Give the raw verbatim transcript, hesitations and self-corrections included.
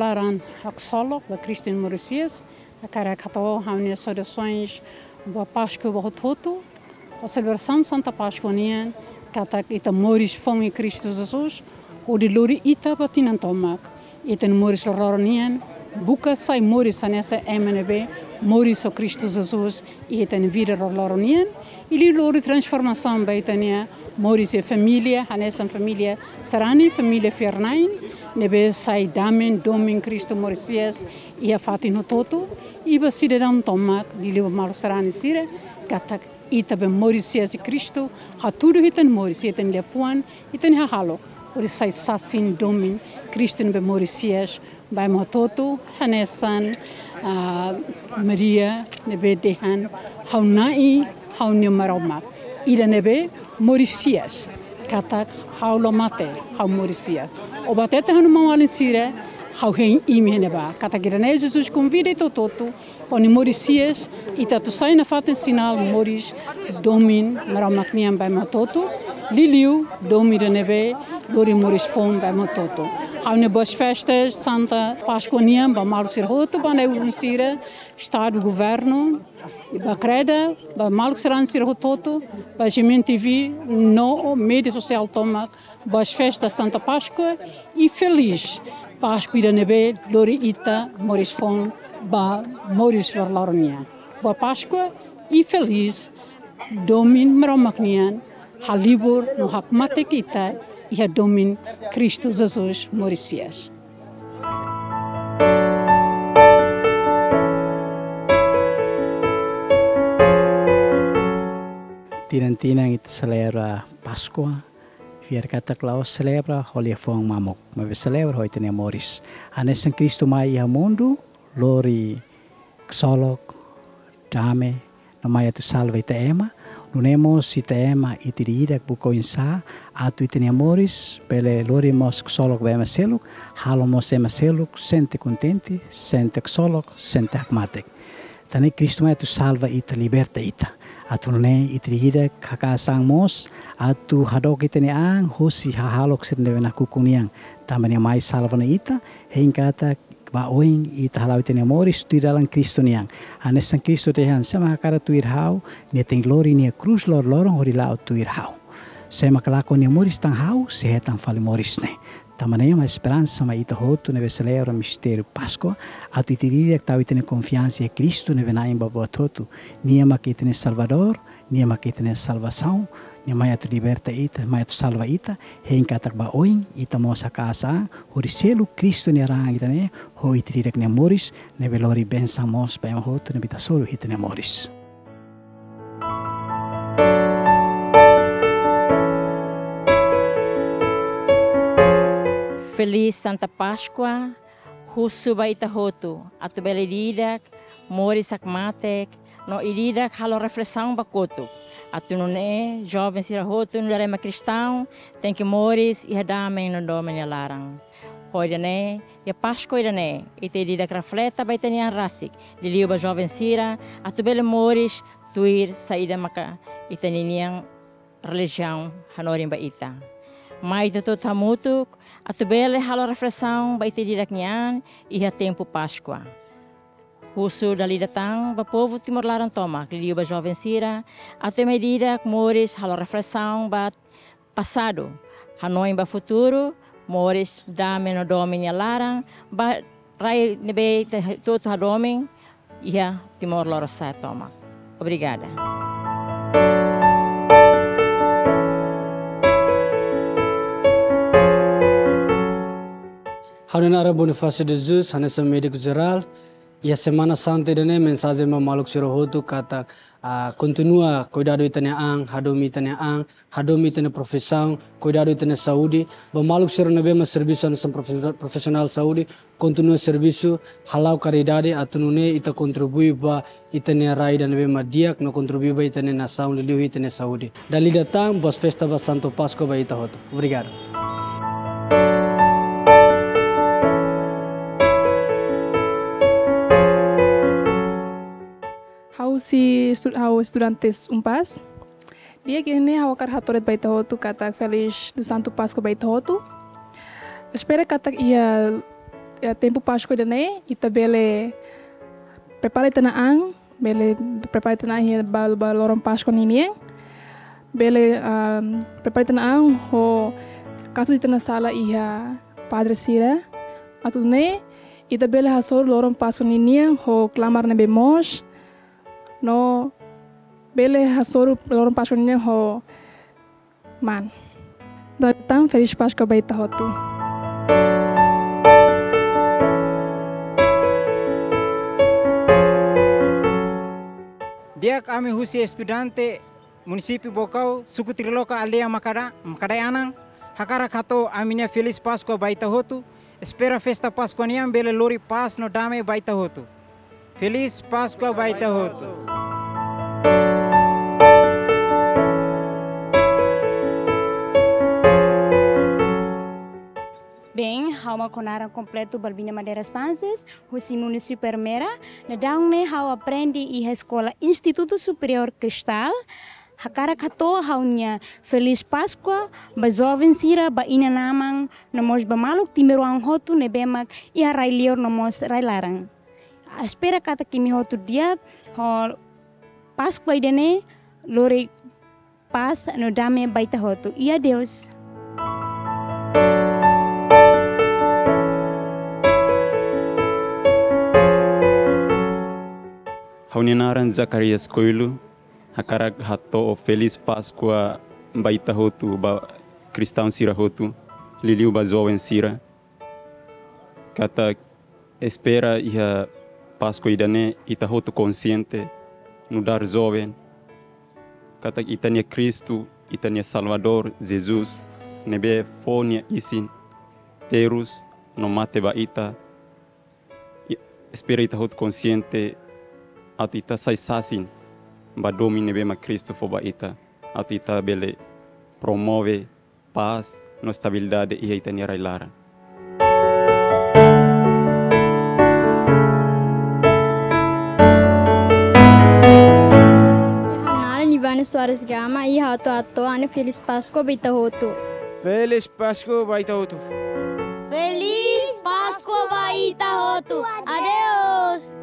Laran haksolok ba Kristu nia moris hi'as, hakarak hato'o ha'u-nia saudasoens ba Páskua ba hotu-hotu, ho selebrasaun Santa Páskua nian, katak ita moris foun iha Kristu Jesus, hodi lori ita ba tinan tomak. Ita-nia moris loroloron nian, buka sai moris hanesan ema ne'ebé moris ho Kristu Jesus iha ita-nia vida loroloron nian, i liu lori transformasaun ba ita-nia moris iha família, hanesan família sarani, família fiar-na'in, ne'ebé sai dame-domin Kristu moris hi'as iha fatin hotu-hotu, i ba sidadaun tomak, liuliu ba maluk sarani sira, katak ita be moris hi'as iha Kristu, hatudu ita-nia moris, ita-nia liafuan, ita-nia hahalok, hodi sai sasin domin Kristu ne'ebé moris hi'as ba ema hotu-hotu, hanesan, ah, Maria ne'ebé dehan: Ha'u Na'i, ha'u-nia Maromak, ida ne'ebé moris hi'as, katak ha'u la mate, ha'u moris hi'as. Ó hatete, ha'u-nia maun-alin sira, ha'u hein imi iha ne'ebá. Katak ida-ne'e Jesus konvida ita hotu-hotu, hodi moris hi'as, ita atu sai nafatin sinál moris domin Maromak nian ba ema hotu-hotu, liuliu domin ida ne'ebé lori moris foun ba ema hotu-hotu. Ha'u-nia boas festas Santa Páskua nian ba maluk sira hotu, ba na'i-ulun sira, Estadu, Governu, i ba Kreda, ba maluk sarani sira hotu-hotu, ba G M N T V, no média sosiál tomak, boas festas Santa Páskua, i felís Páskua ida ne'ebé lori ita moris foun ba moris loroloron nian. Boa Páskua i felís domin Maromak nian halibur no hakmatek ita iha domin Kristu Jesus moris hi'as. Tinan-tinan ita selebra Páskua, fiar katak la'ós selebra ho liafuan mamuk, maibé selebra ho ita-nia moris. Hanesan Kristu mai iha mundu, lori ksolok, dame, no mai atu salva ita ema, nune'e mós ita ema ita ida-idak buka oinsá atu ita-nia moris bele lori mós ksolok ba ema seluk, halo mós ema seluk sente kontente, sente ksolok, sente hakmatek. Tan ne'e Kristu mai atu salva ita, liberta ita. Atu nune'e ita ida-idak haka'as an mós atu hadook ita-nia an husi hahalok sira ne'ebé nakukun nian. Tanba nia mai salva ona ita, hein katak ba oin ita hala'o ita-nia moris tuir dalan Kristu nian. Hanesan Kristu dehan: Sé mak hakarak tuir ha'u, nia tenke lori nia krús loroloron hodi la'o tuir ha'u. Sé mak lakon nia moris tan ha'u, sei hetan fali moris ne'e. Tanba ne'e mak esperansa mai ita hotu ne'ebé selebra mistériu Páskua, atu ita ida-idak tau ita-nia konfiansa iha Kristu ne'ebé Na'i ba buat hotu. Nia mak ita-nia Salvadór, nia mak ita-nia salvasaun, nia mai atu liberta ita, mai atu salva ita, hein katak ba oin ita mós haka'as an hodi selu Kristu nia raan ida-ne'e ho ita ida-idak nia moris, ne'ebé lori bensaun mós ba ema hotu ne'ebé ita hasoru iha ita-nia moris. Feliz Santa Páscoa, husu ba ita hotu, atu bele ida-idak moris hakmatek, no ida-idak halo reflesaun ba kotuk. Atu nune'e, joven sira hotu nu'udar ema kristaun, tenke moris iha dame no domin nia laran. Ho ida-ne'e, iha Páskua ida-ne'e, ita ida-idak refleta ba ita-nia an rasik, liuliu ba joven sira, atu bele moris tuir saida maka ita-nia nian relijiaun hanorin ba ita. Mai ita hotu hamutuk, atu bele halo reflesaun ba ita ida-idak nia an, iha tempu Páskua. Husu dala ida tan ba povu Timor laran tomak, liuliu ba joven sira, atu ema ida-idak moris halo reflesaun ba pasadu, hanoin ba futuru, moris dame no domin nia laran, ba rai ne'ebé ita hotu hadomi iha Timor Lorosa'e tomak. Obrigada. Ha'u-nia naran Bonifácio de Jesus, hanesan médiku jerál. Iha Semana Santa ida-ne'e mensajen ba maluk sira hotu katak, ah, kontinua kuidadu ita-nia an, hadomi ita-nia an, hadomi ita-nia profisaun, kuidadu ita-nia saúde. Ba maluk sira ne'ebé mak servisu hanesan profi-, profisionál saúde, kontinua servisu, hala'o karidade, atu nune'e ita kontribui ba ita-nia rai ida ne'ebé mak di'ak, no kontribui ba ita-nia nasaun, liuliu ita-nia saúde. Dala ida tan, boas festas ba Santa Páscoa ba ita hotu. Obrigadu. Ha'u husi estu-, ha'u estudantes UNPAZ. Di'ak, ida-ne'e ha'u hakarak hato'o de'it ba ita hotu katak Feliz Santa Páscoa ba ita hotu. Espera katak iha eh, tempu Páskua ida-ne'e, ita bele prepara ita-nia an, bele prepara ita-nia an iha ba, ba loron Páskua ninian, bele, ah, prepara ita-nia an ho kazu ita-nia sala iha padre sira. Atu nune'e, ita bele hasoru loron Páskua ninian ho klamar ne'ebé moos, no bele hasoru loron Páskua ninian ho man. Entaun, Feliz Páscoa ba ita hotu. Di'ak, ami husi estudante munisípiu Baucau, suku Triloca, aldeia Macada-, Macadae Anan, hakarak hato'o ami-nia Feliz Páscoa ba ita hotu, espera festa Páskua nian bele lori pás no dame ba ita hotu. Feliz Páscoa ba ita hotu. Bem, ha'u mak ho naran kompletu Balbina Madeira Sanches, husi munisípiu Ermera, daudaun ne'e ha'u aprende iha eskola Instituto Superior Cristal, hakarak hato'o ha'u-nia Feliz Páscoa ba joven sira, ba inan-aman, no mós ba maluk timoroan hotu ne'ebé mak iha rai-liur no mós rai-laran. Espera katak imi hotu di'ak, ho Páskua ida-ne'e lori pás no dame ba ita hotu. I adeus. Ha'u-nia naran Zacarias Coelho, hakarak hato'o Feliz Páscoa ba ita hotu, ba kristaun sira hotu, liuliu ba joven sira. Katak espera iha Páskua ida-ne'e ita hotu konxiente, nu'udar joven, katak ita-nia Kristu, ita-nia Salvadór, Jesus, ne'ebé fó nia isin terus no mate ba ita. I-, espera ita hotu konxiente atu ita sai sasin ba domin ne'ebé mak Kristu fó ba ita, atu ita bele promove pás no estabilidade iha ita-nia rai-laran. Ha'u-nia naran Ivane Soares Gama, i ha'u atu hato'o ha'u-nia Feliz Páscoa ba ita hotu. Feliz Páscoa ba ita hotu. Feliz Páscoa ba ita hotu. Adeus.